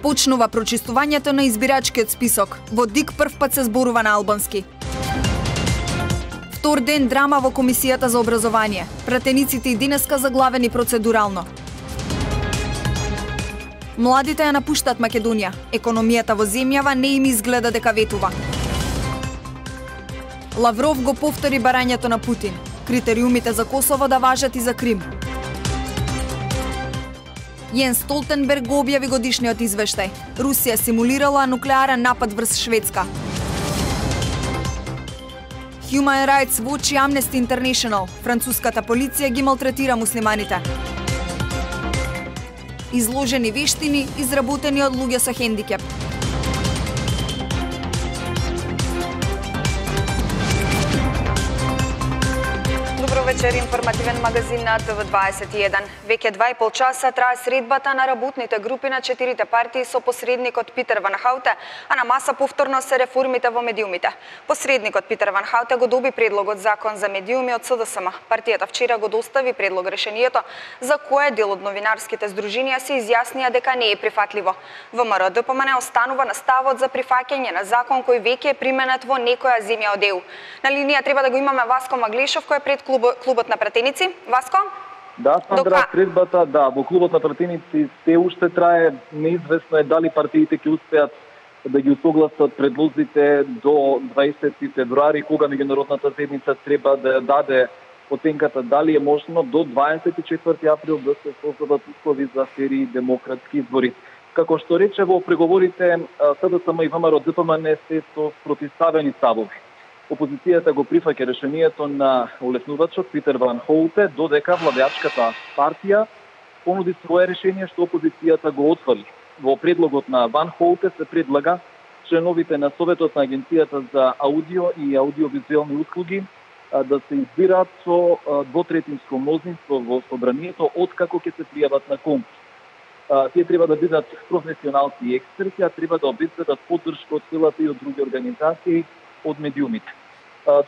Започнува прочистувањето на избирачкиот список. Во ДИК првпат се зборува на албански. Втор ден драма во Комисијата за образование. Пратениците и денеска заглавени процедурално. Младите ја напуштат Македонија. Економијата во земјава не им изгледа дека ветува. Лавров го повтори барањето на Путин. Критериумите за Косово да важат и за Крим. Јенс Столтенберг го објави годишниот извештај. Русија симулирала нуклеарен напад врз Шведска. Human Rights Watch и Amnesty International. Француската полиција ги малтретира муслиманите. Изложени вештини, изработени од луѓе со хендикеп. Добро вечер, информативен магазин на ТВ21. Веќе 2,5 часа трае средбата на работните групи на 4 партии со посредникот Питер Ван Хауте, а на маса повторно се реформите во медиумите. Посредникот Питер Ван Хауте го доби предлогот закон за медиуми од СДСМ. Партијата вчера го достави предлог решението, за кое дел од новинарските здруженија се изјаснија дека не е прифатливо. ВМРО ДПМН останува на ставот за прифаќање на закон кој веќе е применет во некоја земја од ЕУ. На линија треба да го имаме Васко Маглешов кој е пред клубот на пратеници. Васко? Да, Сандра, средбата, да, во клубот на пратеници се уште трае. Неизвестно е дали партиите ќе успеат да ги усогласат предлозите до 20 февруари, кога меѓународната седница треба да даде оценката дали е можно до 24 април да се создадат услови за фери демократски избори. Како што рече во преговорите, СДСМ и ВМРО ДПМН се со противставени ставови. Опозицијата го прифаќа решението на улеснувачот Питер Ван Хауте, додека владеачката партија понуди свое решение што опозицијата го отфрли. Во предлогот на Ван Хауте се предлага членовите на Советот на Агенцијата за аудио и аудиовизуелни услуги да се избираат со двотретинско мнозинство во собранието откако ќе се пријават на конкурс. Тие треба да бидат професионалци и експерти, а треба да обезбедат поддршка од силата и од други организации од медиумите.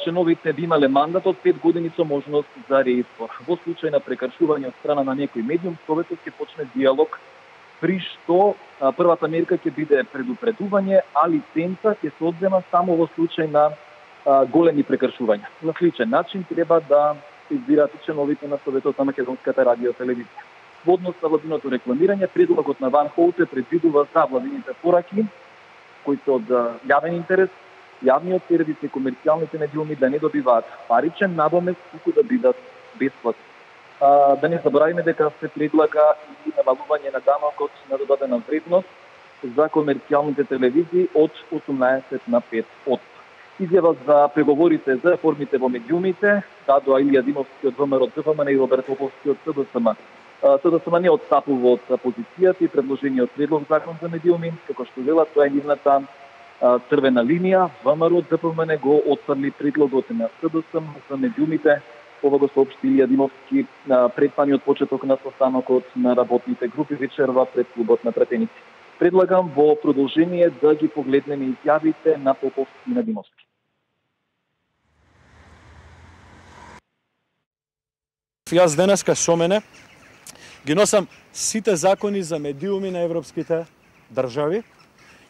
Членовите би имале мандат од 5 години со можност за реизбор. Во случај на прекршување од страна на некој медиум, Советот ќе почне диалог, при што првата мерка ќе биде предупредување, а лиценца ќе се одзема само во случај на големи прекршувања. На сличен начин треба да се избираат и членовите на Советот на Македонската радиотелевизија. Во однос на владиното рекламирање, предлогот на Ван Хауте предвидува за владините пораки, кои се од јавен интерес, јавниот сервис и комерцијалните медиуми да не добиваат паричен надомест, туку да бидат бесплатни. Да не заборавиме дека се предлага и намалување на данокот на додадена вредност за комерцијалните телевизии од 18 на 5%. Изјава за преговорите за реформите во медиумите дадоа Илија Димовски од ВМРО ДПМН и Роберт Поповски од СДСМ. СДСМ не отстапува од позицијата и предложениот предлог закон за медиуми, како што велат, тоа е нивната црвена линија. ВМРО ДПМН го отфрли предлогот на СДСМ за медиумите. Ова го соопшти Илија Димовски пред самиот почеток на состанокот на работните групи вечерва пред клубот на пратеници. Предлагам во продолжение да ги погледнеме изјавите на Поповски и на Димовски. Јас денеска со мене ги носам сите закони за медиуми на европските држави.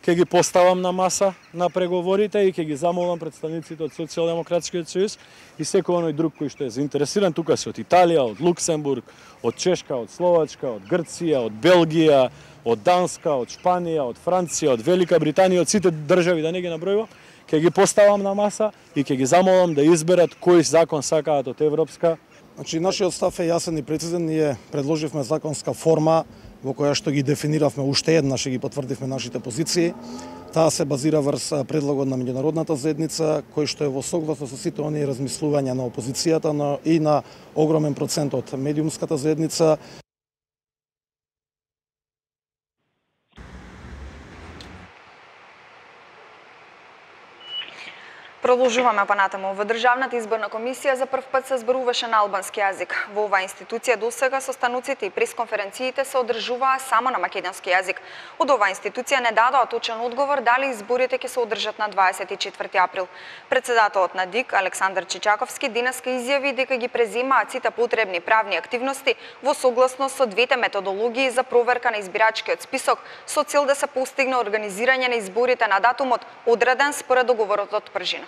Ќе ги поставам на маса на преговорите и ќе ги замолам представниците од Социјалдемократскиот сојуз и секој оној друг кој што е заинтересиран. Тука се од Италија, од Луксембург, од Чешка, од Словачка, од Грција, од Белгија, од Данска, од Шпанија, од Франција, од Велика Британија, од сите држави, да не ги набројувам, ќе ги поставам на маса и ќе ги замолам да изберат кој закон сакаат од европска. Значи, нашиот став е јасен и прецизен. Ние предложивме законска форма во која што ги дефиниравме уште еднаш и ги потврдивме нашите позиции. Таа се базира врз предлогот на меѓународната заедница, кој што е во согласно со сите оние размислувања на опозицијата, но и на огромен процент од медиумската заедница. Продолжуваме понатаму. Во Државната изборна комисија за прв пат се зборуваше на албански јазик. Во оваа институција досега состануците и пресконференциите се одржуваа само на македонски јазик. Од оваа институција не дадоа точен одговор дали изборите ќе се одржат на 24 април. Председателот на ДИК Александар Чичаковски денеска изјави дека ги преземаат сите потребни правни активности во согласност со двете методологии за проверка на избирачкиот список со цел да се постигне организирање на изборите на датумот одреден според договорот од пржина.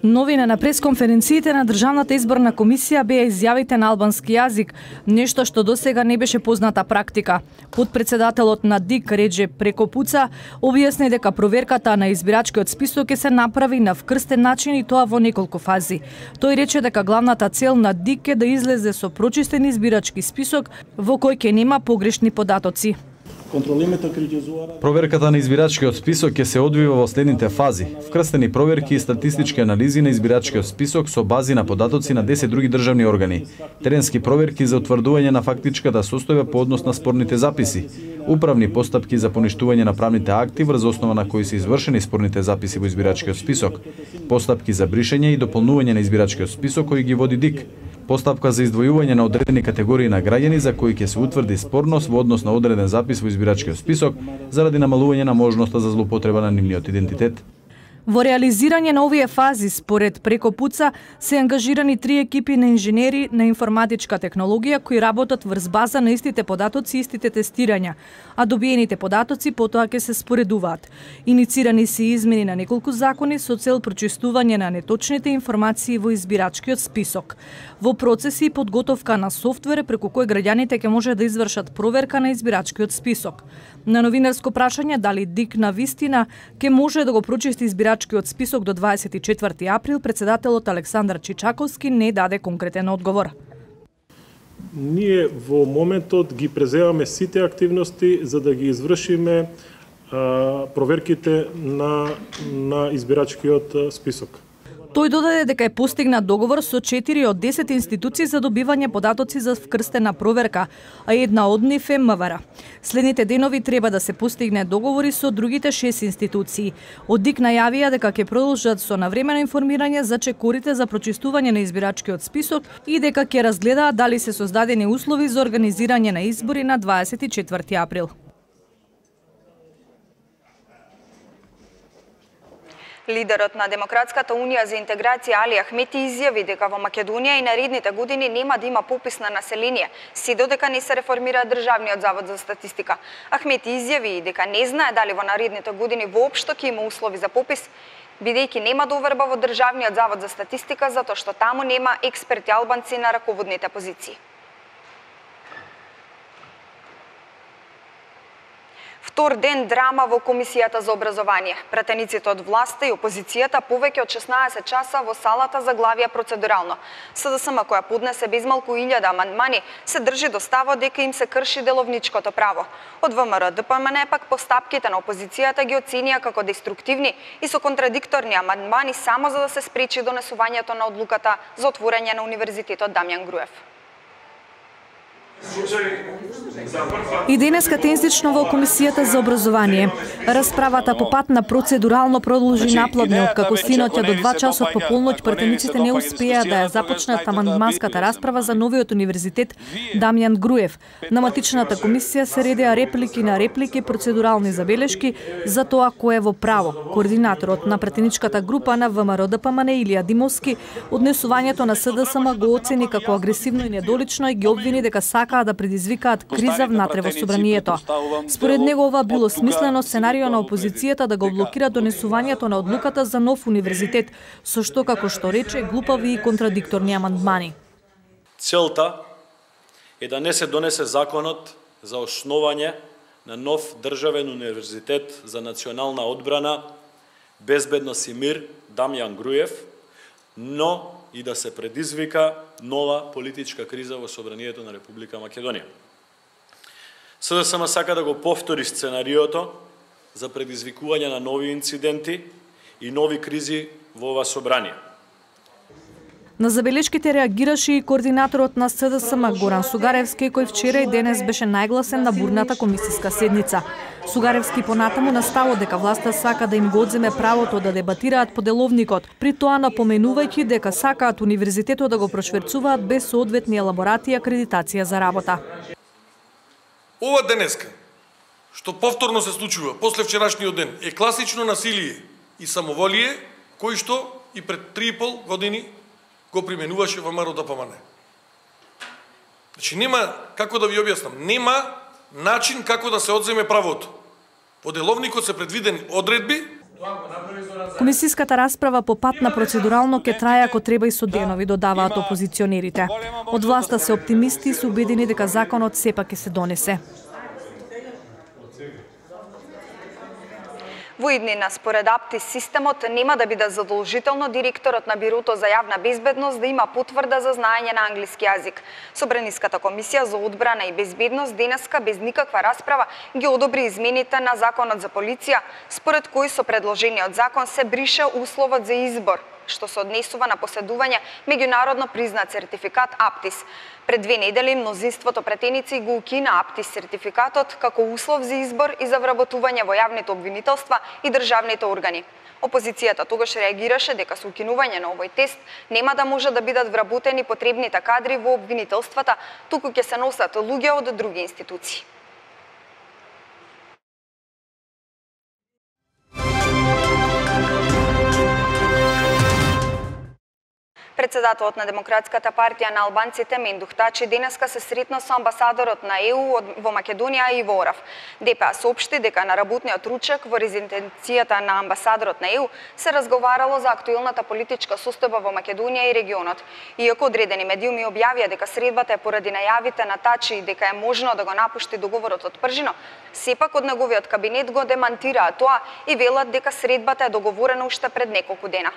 Новина на пресконференциите на Државната изборна комисија беа изјавите на албански јазик, нешто што досега не беше позната практика. Подпредседателот на ДИК Реджеп Прекопуца објасни дека проверката на избирачкиот список ќе се направи на вкрстен начин и тоа во неколку фази. Тој рече дека главната цел на ДИК е да излезе со прочистен избирачки список во кој ќе нема погрешни податоци. Проверката на избирачкиот список ќе се одвива во следните фази: вкрстени проверки и статистички анализи на избирачкиот список со бази на податоци на 10 други државни органи, теренски проверки за утврдување на фактичката состојба по однос на спорните записи, управни постапки за поништување на правните акти врз основа на кои се извршени спорните записи во избирачкиот список, постапки за бришење и дополнување на избирачкиот список кој ги води ДИК, постапка за издвојување на одредени категории на граѓани за кои ќе се утврди спорност во однос на одреден запис во избирачкиот список заради намалување на можноста за злоупотреба на нивниот идентитет. Во реализирање на овие фази, според Прекопуца, се ангажирани 3 екипи на инженери на информатичка технологија кои работат врз база на истите податоци и истите тестирања, а добиените податоци потоа ќе се споредуваат. Иницирани се измени на неколку закони со цел прочистување на неточните информации во избирачкиот список. Во процеси и подготовка на софтвер преку кој граѓаните ќе може да извршат проверка на избирачкиот список. На новинарско прашање дали ДИК на вистина ќе може да го прочисти избирачкиот список до 24 април, председателот Александар Чичаковски не даде конкретен одговор. Ние во моментот ги преземаме сите активности за да ги извршиме проверките на избирачкиот список. Тој додаде дека е постигнат договор со 4 од 10 институции за добивање податоци за вкрстена проверка, а една од нив е МВР. Следните денови треба да се постигне договори со другите 6 институции. Од ДИК најавија дека ќе продолжат со навремено информирање за чекорите за прочистување на избирачкиот список и дека ќе разгледаат дали се создадени услови за организирање на избори на 24 април. Лидерот на Демократската унија за интеграција Али Ахмети изјави дека во Македонија и наредните години нема да има попис на население, се додека не се реформира Државниот завод за статистика. Ахмети изјави дека не знае дали во наредните години воопшто ќе има услови за попис, бидејќи нема доверба во Државниот завод за статистика затоа што таму нема експерти албанци на раководните позиции. Втор ден драма во Комисијата за образование. Пратениците од власта и опозицијата повеќе од 16 часа во салата заглавија процедурално. СДСМ, која поднесе безмалку 1000 амандмани, се држи до ставот дека им се крши деловничкото право. Од ВМРО ДПМН пак постапките на опозицијата ги оценија како деструктивни и со контрадикторни амандмани само за да се спречи донесувањето на одлуката за отворање на Универзитетот Дамјан Груев. И денеска тензично во Комисијата за образование. Расправата по пат на процедурално продолжи наплодно, откако синоќа до 2 часот по полноќ пратениците не успеа да ја започнат амандманската расправа за новиот универзитет Дамјан Груев. На матичната комисија се редеа реплики на реплики, процедурални забелешки за тоа кој е во право. Координаторот на пратеничката група на ВМРО ДПМН Илија Димовски однесувањето на СДСМ го оцени како агресивно и недолично и ги обвини дека сакаа да предизвикаат криза внатре во собранието. Според него ова било смислено сценарио на опозицијата да го блокира донесувањето на одлуката за нов универзитет, со што, како што рече, глупави и контрадикторни амандмани. Целта е да не се донесе законот за основање на нов државен универзитет за национална одбрана, безбедност и мир Дамјан Груев, но и да се предизвика нова политичка криза во собранието на Република Македонија. СДСМ сака да го повтори сценариото за предизвикување на нови инциденти и нови кризи во ова собрание. На забелешките реагираше и координаторот на СДСМ Горан Сугаревски, кој вчера и денес беше најгласен на бурната комисиска седница. Сугаревски понатаму наставо дека власта сака да им го одземе правото да дебатираат по деловникот, при тоа напоменувајќи дека сакаат универзитетот да го прошверцуваат без соодветни елаборати и акредитација за работа. Ова денеска, што повторно се случува после вчерашниот ден, е класично насилие и самоволие, кој што и пред 3,5 години го применуваше ВМРО ДПМН. Значи нема, како да ви објаснам, нема начин како да се одземе правото. По деловникот се предвидени одредби. Комисиската расправа по пат на процедурално ке трае ако треба и со денови, додаваат опозиционерите. Од власта се оптимисти и се убедени дека законот сепак ќе се донесе. Во иднина, според Аптис системот нема да биде задолжително директорот на Бирото за јавна безбедност да има потврда за знаење на англиски јазик. Собраниската комисија за одбрана и безбедност денеска без никаква расправа ги одобри измените на законот за полиција, според кои со предложениот закон се брише условот за избор, што се однесува на поседување меѓународно признат сертификат Аптис. Пред 2 недели мнозинството претеници го укина Аптис сертификатот како услов за избор и за вработување во јавните обвинителства и државните органи. Опозицијата тогаш реагираше дека со укинување на овој тест нема да може да бидат вработени потребните кадри во обвинителствата, туку ќе се носат луѓе од други институции. Председателот на Демократската партија на албанците Мендух Тачи денеска се сретна со амбасадорот на ЕУ во Македонија Иво Орав. ДПА соопшти дека на работниот ручек во резиденцијата на амбасадорот на ЕУ се разговарало за актуелната политичка состојба во Македонија и регионот. Иако одредени медиуми објавија дека средбата е поради најавите на Тачи и дека е можно да го напушти договорот од пржино, сепак од неговиот кабинет го демантираа тоа и велат дека средбата е договорена уште пред неколку дена.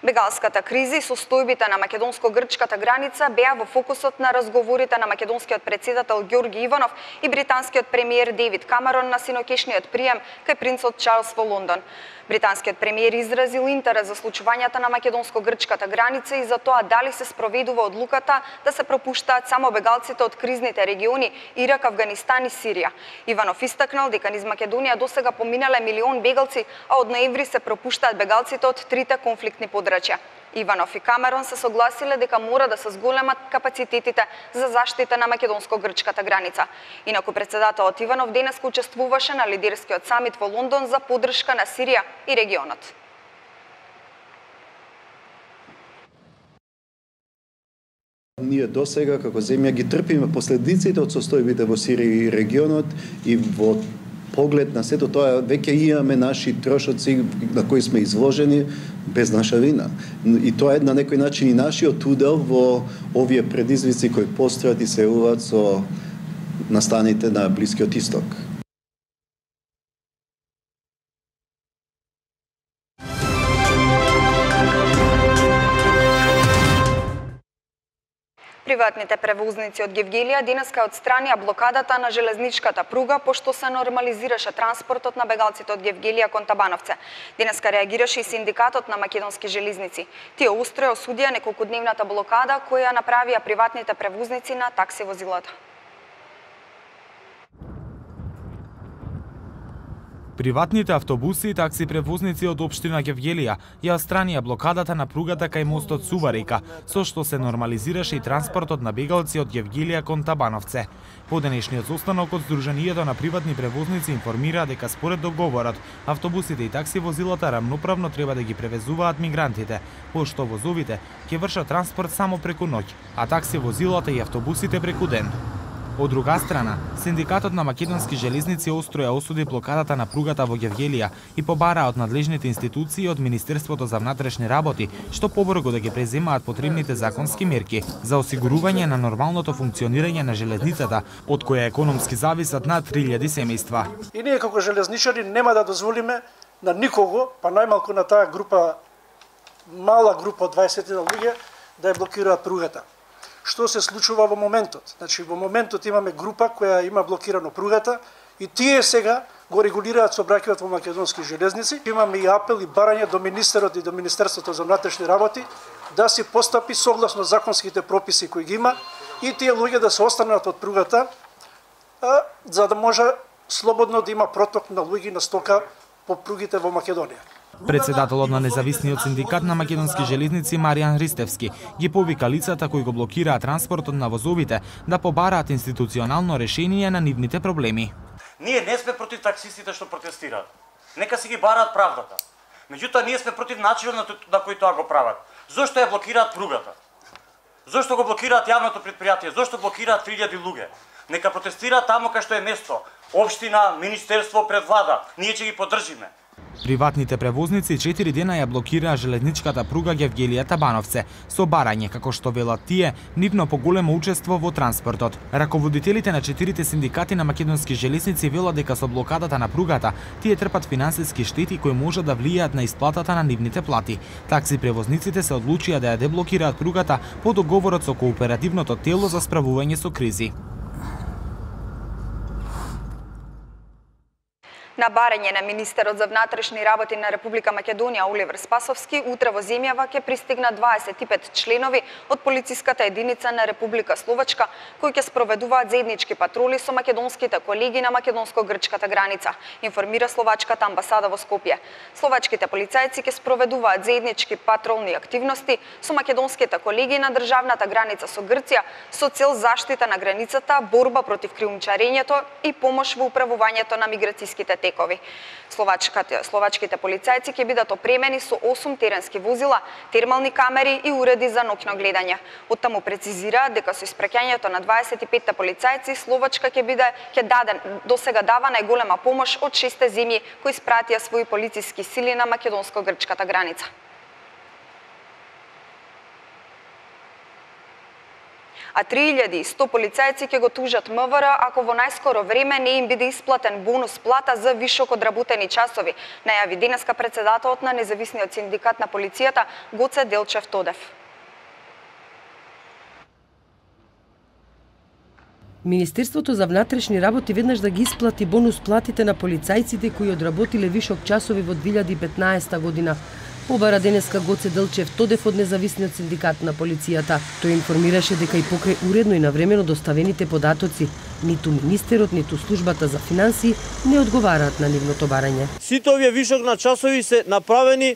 Бегалската криза и состојбите на македонско-грчката граница беа во фокусот на разговорите на македонскиот председател Ѓорги Иванов и британскиот премиер Девид Камерон на синокешниот прием кај принцот Чарлс во Лондон. Британскиот премиер изразил интерес за случувањата на македонско-грчката граница и за тоа дали се спроведува одлуката да се пропуштаат само бегалците од кризните региони Ирак, Авганистан и Сирија. Иванов истакнал дека низ Македонија досега поминале 1 милион бегалци, а од ноември се пропуштаат бегалците од 3 конфликтни подрачја. Иванов и Камерон се согласиле дека мора да се зголемат капацитетите за заштита на македонско-грчката граница. Инаку председателот Иванов денес учествуваше на лидерскиот самит во Лондон за поддршка на Сирија и регионот. Ние досега како земја ги трпиме последиците од состојбите во Сирија и регионот и во поглед на сето тоа веќе имаме наши трошоци на кои сме изложени без наша вина. И тоа е на некој начин и нашиот удел во овие предизвици кои постојат и се уват со настаните на Блискиот Исток. Приватните превозници од Гевгелија денеска отстранија блокадата на железничката пруга пошто се нормализираше транспортот на бегалците од Гевгелија кон Табановце. Денеска реагираше и синдикатот на македонски железници. Тие остро осудија неколкудневната блокада која направија приватните превозници на такси возилата. Приватните автобуси и такси превозници од општина Гевгелија ја отстранија блокадата на пругата кај мостот Суварека, со што се нормализираше и транспортот на бегалци од Гевгелија кон Табановце. По денешниот состанок од Сдруженијето на приватни превозници информира дека според договорот, автобусите и такси возилата рамноправно треба да ги превезуваат мигрантите, пошто возовите ќе вршат транспорт само преку ноќ, а такси возилата и автобусите преку ден. Од друга страна, синдикатот на македонски железници остро ја осуди блокадата на пругата во Гевгелија и побара од надлежните институции од Министерството за внатрешни работи што побрзо да ги преземаат потребните законски мерки за осигурување на нормалното функционирање на железницата, од која економски зависат над 3000 семејства. И ние како железничари нема да дозволиме на никого, па најмалку на таа група, мала група од 20 луѓе, да ја блокираат пругата. Што се случува во моментот? Значи, во моментот имаме група која има блокирано пругата и тие сега го регулираат сообраќајот во македонски железници. Имаме и апел и барање до министерот и до Министерството за внатрешни работи да се постапи согласно законските прописи кои ги има и тие луѓе да се останат од пругата, за да може слободно да има проток на луѓе на стока по пругите во Македонија. Председателот на независниот синдикат на македонски железници Маријан Христевски ги повика лицата кои го блокираат транспортот на возовите да побараат институционално решение на нивните проблеми. Ние не сме против таксистите што протестираат. Нека си ги бараат правдата. Меѓутоа ние сме против начинот на кој тоа го прават. Зошто ја блокираат пругата? Зошто го блокираат јавното претпријатие? Зошто блокираат 3000 луѓе? Нека протестираат таму кај што е место. Општина, министерство, пред влада. Ние ќе ги поддржиме. Приватните превозници 4 дена ја блокираа железничката пруга Гевгелија-Табановце со барање, како што велат тие, нивно поголемо учество во транспортот. Раководителите на 4 синдикати на македонски железници велат дека со блокадата на пругата тие трпат финансиски штети кои може да влијаат на исплатата на нивните плати. Такси превозниците се одлучија да ја деблокираат пругата по договорот со кооперативното тело за справување со кризи. На барање на министерот за внатрешни работи на Република Македонија Оливер Спасовски, утре во земјава ќе пристигнат 25 членови од полициската единица на Република Словачка, кои ќе спроведуваат заеднички патроли со македонските колеги на македонско-грчката граница, информира словачката амбасада во Скопје. Словачките полицајци ќе спроведуваат заеднички патролни активности со македонските колеги на државната граница со Грција со цел заштита на границата, борба против криумчарењето и помош во управувањето на миграцијските текови. Словачките полицајци ќе бидат опремени со 8 теренски возила, термални камери и уреди за ноќно гледање. Оттаму прецизира дека со испраќањето на 25 полицајци Словачка ќе даде досега дава најголема помош од 6 земји кои испратија своји полициски сили на македонско-грчката граница. А 3100 полицајци ќе го тужат МВР ако во најскоро време не им биде исплатен бонус плата за вишок одработени часови, најави денеска председателот на независниот синдикат на полицијата Гоце Делчев Тодев. Министерството за внатрешни работи веднаш да ги исплати бонус платите на полицајците кои одработиле вишок часови во 2015 година. Побара денеска Гоце Делчев Тодев од независниот синдикат на полицијата. Тој информираше дека и покрај уредно и навремено доставените податоци, ниту министерот, ниту службата за финансии не одговараат на нивното барање. Сите овие вишок на часови се направени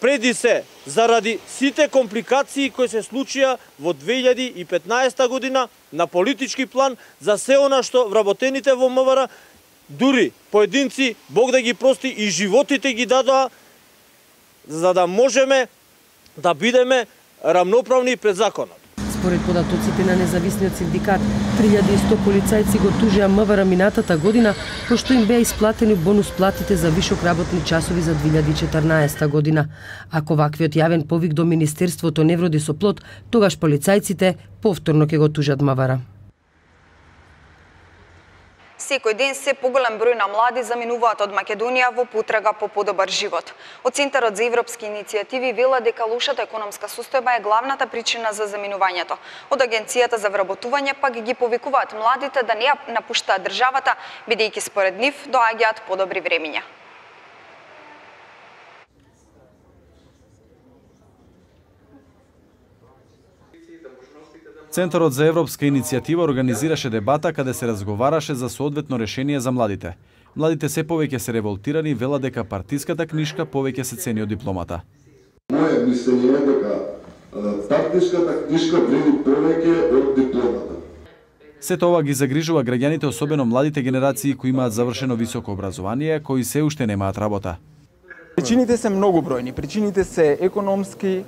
преди се заради сите компликации кои се случија во 2015 година на политички план за се она што вработените во МВР, дури поединци, Бог да ги прости, и животите ги дадоа за да можеме да бидеме рамноправни пред законот. Според податоците на независниот синдикат, 3100 полицајци го тужеа МВР минатата година, пошто им беа исплатени бонус платите за вишок работни часови за 2014 година. Ако ваквиот јавен повик до Министерството не вроди со плод, тогаш полицајците повторно ќе го тужат МВР. Секој ден се поголем број на млади заминуваат од Македонија во потрага по подобар живот. Од Центарот за европски иницијативи велат дека лошата економска состојба е главната причина за заминувањето. Од Агенцијата за вработување пак ги повикуваат младите да не ја напуштаат државата, бидејќи според нив доаѓаат подобри времиња. Центарот за европска иницијатива организираше дебата каде се разговараше за соодветно решение за младите. Младите се повеќе се револтирани, велат дека партиската книжка повеќе се цени од дипломата. Моје мислење е дека партиската книжка вреди повеќе од дипломата. Сето ова ги загрижува граѓаните, особено младите генерации кои имаат завршено високо образование, кои се уште немаат работа. Причините се многобројни. Причините се економски,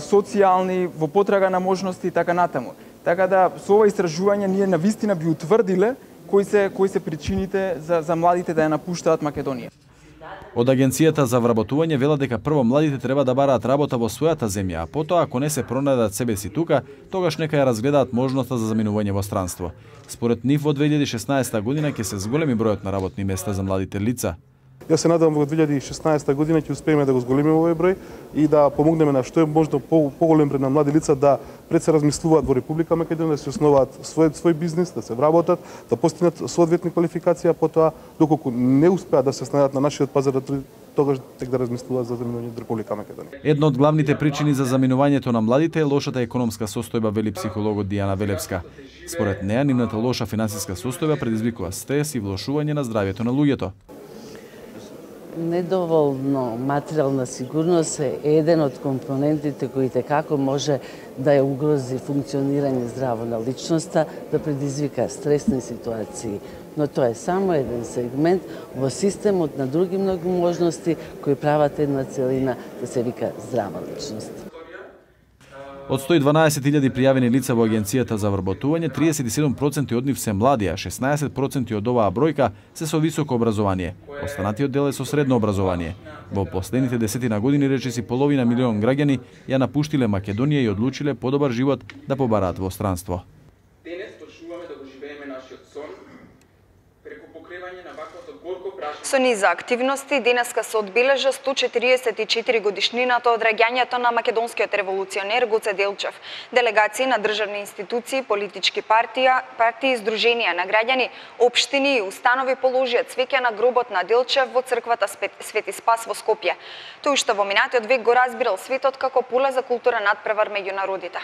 социјални, во потрага на можности и така натаму. Така да со ова истражување ние навистина би утврдиле кои се причините за младите да ја напуштаат Македонија. Од Агенцијата за вработување велат дека прво младите треба да бараат работа во својата земја, а потоа ако не се пронајдат себе си тука, тогаш нека ја разгледаат можноста за заминување во странство. Според нив во 2016 година ќе се зголеми бројот на работни места за младите лица. Јас се надевам во 2016 година ќе успееме да го зголемиме овој број и да помогнеме на што е можно поголем број на млади лица да пред се размислуваат во Република Македонија, да се основаат свој бизнис, да се вработат, да постигнат соодветни квалификации, а потоа доколку не успеат да се снајдат на нашиот пазар, тогаш тек да размислуваат за заминување од Република Македонија. Една од главните причини за заминувањето на младите е лошата економска состојба, вели психологот Дијана Велевска. Според неа, нивната лоша финансиска состојба предизвикува стрес и влошување на здравјето на луѓето. Недоволно материјална сигурност е еден од компонентите кои како може да ја угрози функционирање здраво на личноста, да предизвика стресни ситуации. Но тоа е само еден сегмент во системот на други многу можности кои прават една целина да се вика здрава личност. Од 112.000 пријавени лица во Агенцијата за вработување, 37% од нив се млади, а 16% од оваа бројка се со високо образование. Останатиот дел е со средно образование. Во последните 10 години речиси половина милион граѓани ја напуштиле Македонија и одлучиле подобар живот да побараат во странство. Денес почнуваме да го живееме нашиот сон преку покривање на ваквото горко прашање. Со низа активности денеска се одбележа 144 годишнината од раѓањето на македонскиот револуционер Гоце Делчев. Делегации на државни институции, политички партии, здруженија на граѓани, општини и установи положија цвеќе на гробот на Делчев во црквата Свети Спас во Скопје. Тој што во минатиот век го разбирал светот како поле за култура надпревар меѓу народите.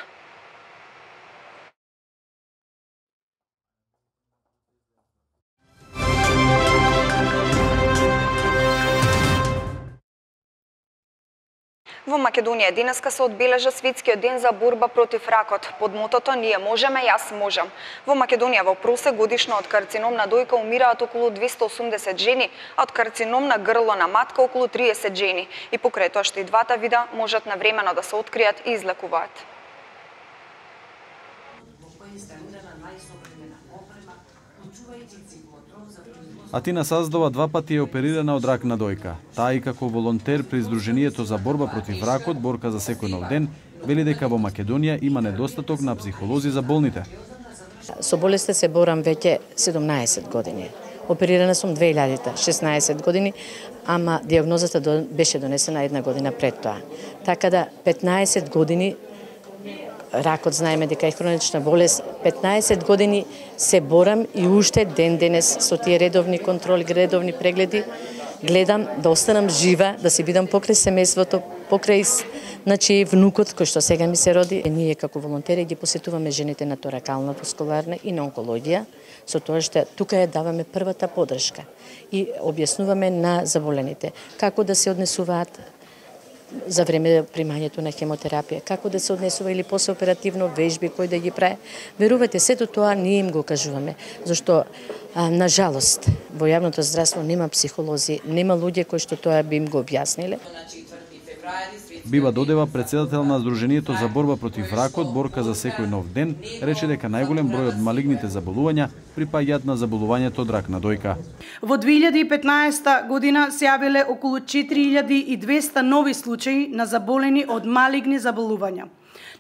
Во Македонија денеска се одбележа светскиот ден за борба против ракот. Под мотото "Ние можеме, јас можам". Во Македонија во просек годишно од карцином на дојка умираат околу 280 жени, а од карцином на грло на матка околу 30 жени. И покрај тоа што и двата вида можат навремено да се откријат и излекуваат. Атина Саздова два пати е оперирана од рак на дојка. Таа и како волонтер при Сдруженијето за борба против ракот, борка за секој нов ден, вели дека во Македонија има недостаток на психолози за болните. Со болестта се борам веќе 17 години. Оперирана сум 2000-та, 16 години, ама диагнозата беше донесена една година пред тоа. Така да 15 години ракот знаеме дека е хронична болест, 15 години се борам и уште ден денес со тие редовни контроли, редовни прегледи, гледам да останам жива, да си бидам покрај семејството, покрај внукот кој што сега ми се роди. Ние како волонтери ги посетуваме жените на торакална васкуларна и на онкологија, со тоа што тука ја даваме првата поддршка и објаснуваме на заболените како да се однесуваат за време примањето на хемотерапија, како да се однесува или посеоперативно вежби кои да ги прави. Верувате, сето тоа ние им го кажуваме, зашто на жалост во јавното здравство нема психолози, нема луѓе кои што тоа би им го објасниле. Бива Додева, председател на Сдруженијето за борба против ракот, борка за секој нов ден, рече дека најголем број од малигните заболувања припаѓаат на заболувањето од рак на дојка. Во 2015 година се јавиле околу 4200 нови случаи на заболени од малигни заболувања.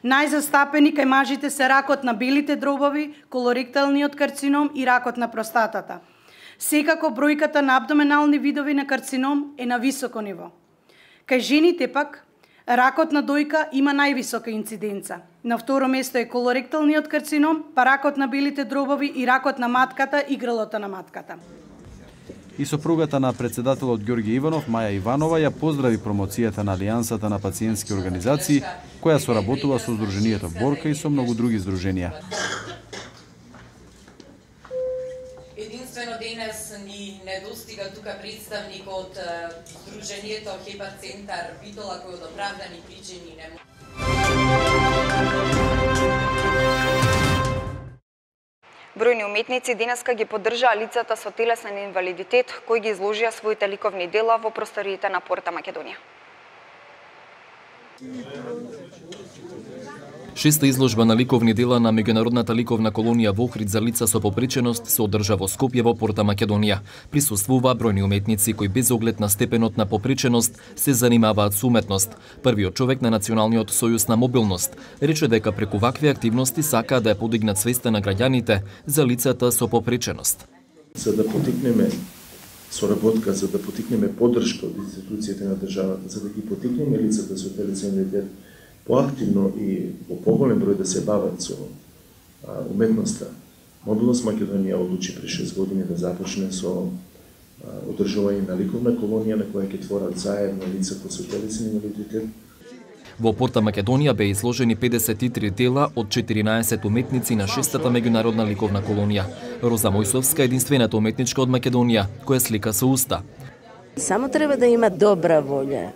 Најзастапени кај мажите се ракот на белите дробови, колоректалниот карцином и ракот на простатата. Секако бројката на абдоменални видови на карцином е на високо ниво. Кај жените пак, ракот на дојка има највисока инциденца. На второ место е колоректалниот карцином, па ракот на белите дробови и ракот на матката и грлото на матката. И сопругата на председателот Ѓорги Иванов, Маја Иванова, ја поздрави промоцијата на Алијансата на пациентски организации, која соработува со Сдруженијето Борка и со многу други здруженија. Единствено денес ни недостига тука представник од Сдруженијето Хепар-центар Битола, кој од оправдани причини не може. Бројни уметници денеска ги поддржаа лицата со телесен инвалидитет, кои ги изложија своите ликовни дела во просториите на Порта Македонија. Шеста изложба на ликовни дела на меѓународната ликовна колонија во Охрид за лица со попреченост се одржа во Скопје во Порта Македонија. Присуствуваа бројни уметници кои без оглед на степенот на попреченост се занимаваат со уметност. Првиот човек на Националниот сојуз на мобилност рече дека преку вакви активности сакаа да ја подигнат свеста на граѓаните за лицата со попреченост. За да потикнеме соработка за да потикнеме поддршка од институциите на државата, за да ги потикнеме лицата со телесензитет поактивно и во поголем број да се бават со уметноста. Мобилност Македонија одлучи пред 6 години да започне со одржување на ликовна колонија на која ќе творат заедно лицата со телесен инвалидитет. Во Порта Македонија беа изложени 53 дела од 14 уметници на 6-та меѓународна ликовна колонија. Роза Мојсовска е единствената уметничка од Македонија која слика со уста. Само треба да има добра волја.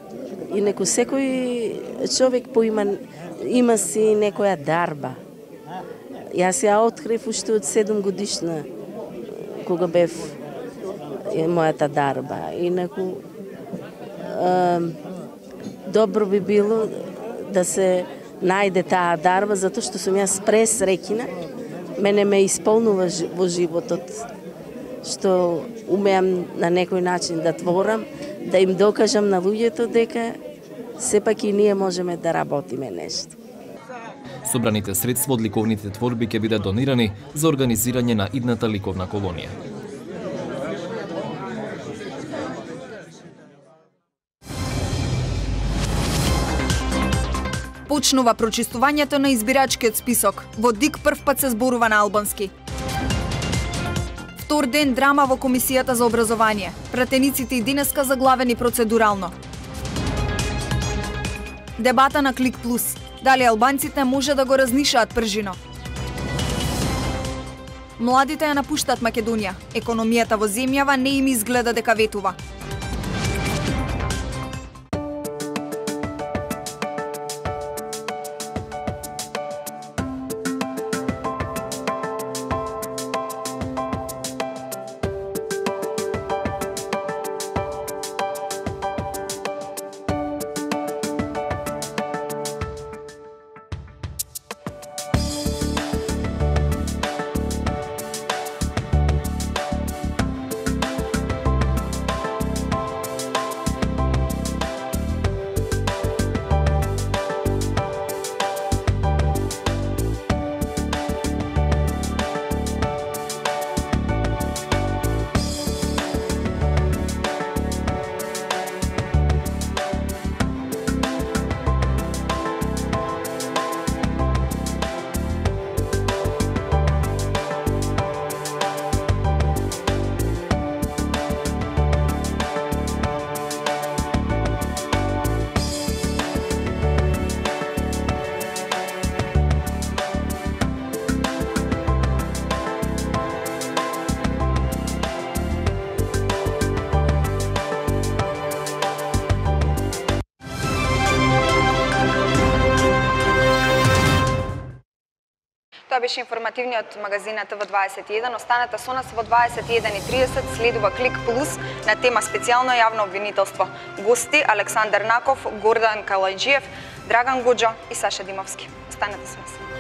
И некој секој човек има си некоја дарба. Јас ја открив уште од 7 годишна кога бев мојата дарба. Инаку добро би било да се најде таа дарба, затоа што сум јас пресреќна. Мене ме исполнува во животот, што умеам на некој начин да творам, да им докажам на луѓето дека сепак и ние можеме да работиме нешто. Собраните средства од ликовните творби ќе бидат донирани за организирање на идната ликовна колонија. Почнува прочистувањето на избирачкиот список. Во ДИК првпат се зборува на албански. Втор ден драма во Комисијата за образование. Пратениците и денеска заглавени процедурално. Дебата на Клик Плюс. Дали албанците може да го разнишаат пржино? Младите ја напуштаат Македонија. Економијата во земјава не им изгледа дека ветува. Тоа беше информативниот магазин на ТВ21. Останете со нас во 21:30. Следува Клик Плюс на тема специјално јавно обвинителство. Гости Александар Наков, Гордан Калајджиев, Драган Гоџо и Саша Димовски. Останете со нас.